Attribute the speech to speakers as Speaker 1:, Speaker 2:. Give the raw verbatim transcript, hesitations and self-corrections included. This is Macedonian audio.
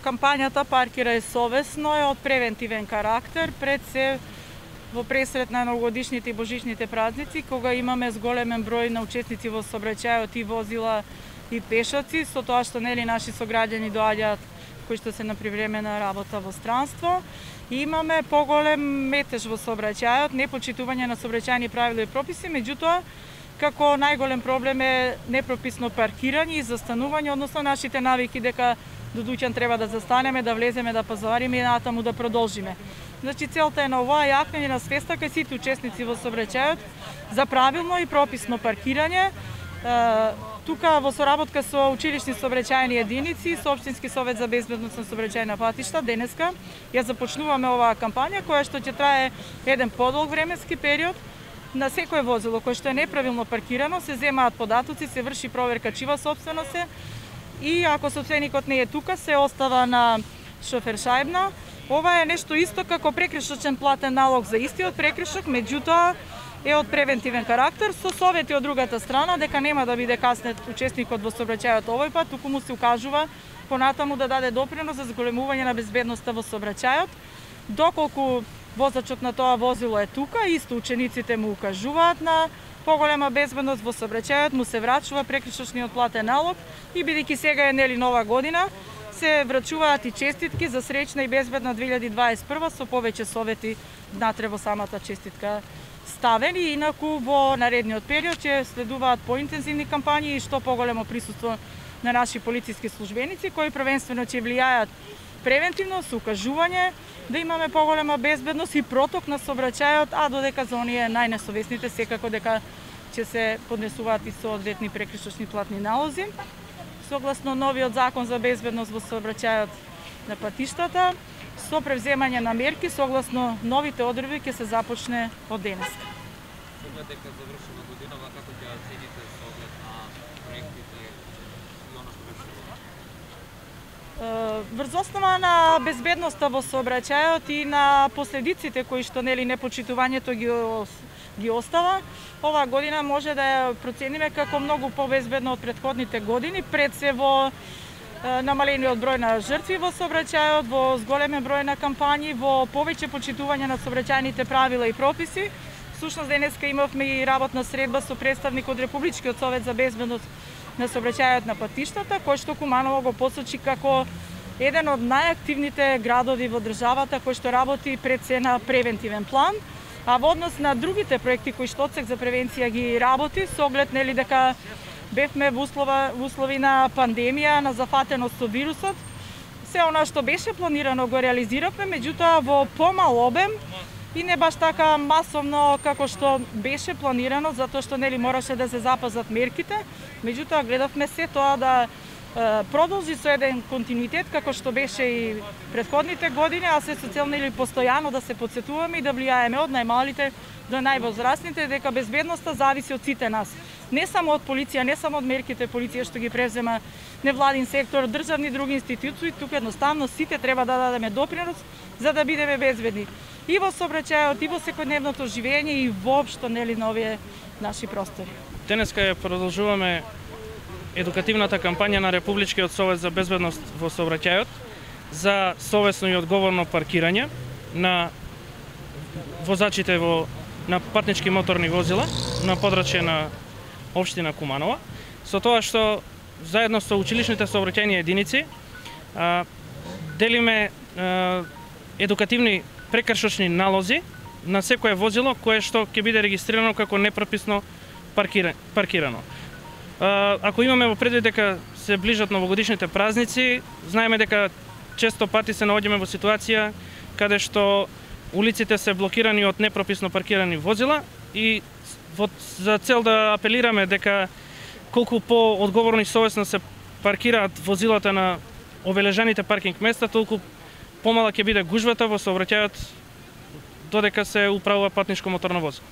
Speaker 1: кампањата Паркирај совесно е од превентивен карактер, пред се во пресрет на новогодишните и божичните празници, кога имаме зголемен број на учесници во сообраќајот и возила и пешаци, со тоа што нели наши сограѓани доаѓаат кои што се на привремена работа во странство. И имаме поголем метеж во сообраќајот, непочитување на сообраќајни правила и прописи, меѓутоа како најголем проблем е непрописно паркирање и застанување, односно нашите навики дека до дуќан треба да застанеме, да влеземе, да пазариме и натаму да продолжиме. Значи целта е на ова јакнење на свеста кај сите учесници во сообраќајот за правилно и прописно паркирање. Тука во соработка со училишни сообраќајни единици, со Општински совет за безбедност на сообраќајна патишта, денеска ја започнуваме оваа кампања која што ќе трае еден подолг временски период. На секое возило кое што е неправилно паркирано се земаат податоци, се врши проверка чива сопственост е и ако собственикот не е тука се остава на шофер шајбна. Ова е нешто исто како прекршочен платен налог за истиот прекршок, меѓутоа е од превентивен карактер со совети од другата страна дека нема да биде каснет учесникот во сообраќајот овој пат, туку му се укажува понатаму да даде допринос за зголемување на безбедноста во сообраќајот. Доколку возачот на тоа возило е тука, исто учениците му укажуваат на поголема безбедност во сообраќајот, му се врачува прекршочниот платен налог и бидејќи сега е нели нова година, се врачуваат и честитки за среќна и безбедна две илјади дваесет и прва со повеќе совети внатре во самата честитка ставени. Инаку во наредниот период ќе следуваат поинтензивни кампањи и што поголемо присуство на наши полициски службеници кои првенствено ќе влијаат превентивно со укажување да имаме поголема безбедност и проток на сообраќајот, а додека за оние најнесовесните секако дека ќе се поднесуваат и соодветни прекршочни платни налози. Согласно новиот закон за безбедност во сообраќајот на патиштата, со превземање на мерки согласно новите одредби ќе се започне од денеска.
Speaker 2: Со оглед дека завршува годинава, како ќе оцените со оглед на проектите и она што беше?
Speaker 1: Врз основа на безбедноста во сообраќајот и на последиците кои што нели непочитувањето ги ги остава, оваа година може да ја процениме како многу побезбедно од претходните години, пред се во намалениот број на жртви во сообраќајот, во зголемен број на кампањи, во повеќе почитување на сообраќајните правила и прописи. Всушност денеска имавме и работна средба со представник од Републичкиот совет за безбедност на сообраќајот на патиштата, кој што Куманово го посочи како еден од најактивните градови во државата кој што работи пред се на превентивен план. А во однос на другите проекти кои што Одсек за превенција ги работи, со оглед нели дека бевме во услова, во услови на пандемија, на зафатеност со вирусот, се она што беше планирано го реализиравме, меѓутоа во помал обем и не баш така масовно како што беше планирано, затоа што нели мораше да се запазат мерките, меѓутоа гледавме се тоа да продолжи со еден континуитет како што беше и претходните години, а се со цел нели постојано да се потсетуваме и да влијаеме од најмалите до највозрастните дека безбедноста зависи од сите нас. Не само од полиција, не само од мерките полиција што ги превзема невладин сектор, државни други институции, тука едноставно сите треба да дадеме допринос за да бидеме безбедни и во сообраќајот, и во секојдневното живење и воопшто нели на овие наши простори.
Speaker 3: Денеска ја продолжуваме едукативната кампања на Републичкиот совет за безбедност во сообраќајот за совесно и одговорно паркирање на возачите во на патнички моторни возила на подрачје на општина Куманово, со тоа што заедно со училишните сообраќајни единици а, делиме а, едукативни прекршочни налози на секое возило кое што ќе биде регистрирано како непрописно паркирано. Ако имаме во предвид дека се ближат новогодишните празници, знаеме дека често пати се наоѓаме во ситуација каде што улиците се блокирани од непрописно паркирани возила и во, за цел да апелираме дека колку по-одговорно и совесно се паркираат возилата на обележаните паркинг места, толку помала ќе биде гужвата во сообраќајот додека се управува патничко моторно возило.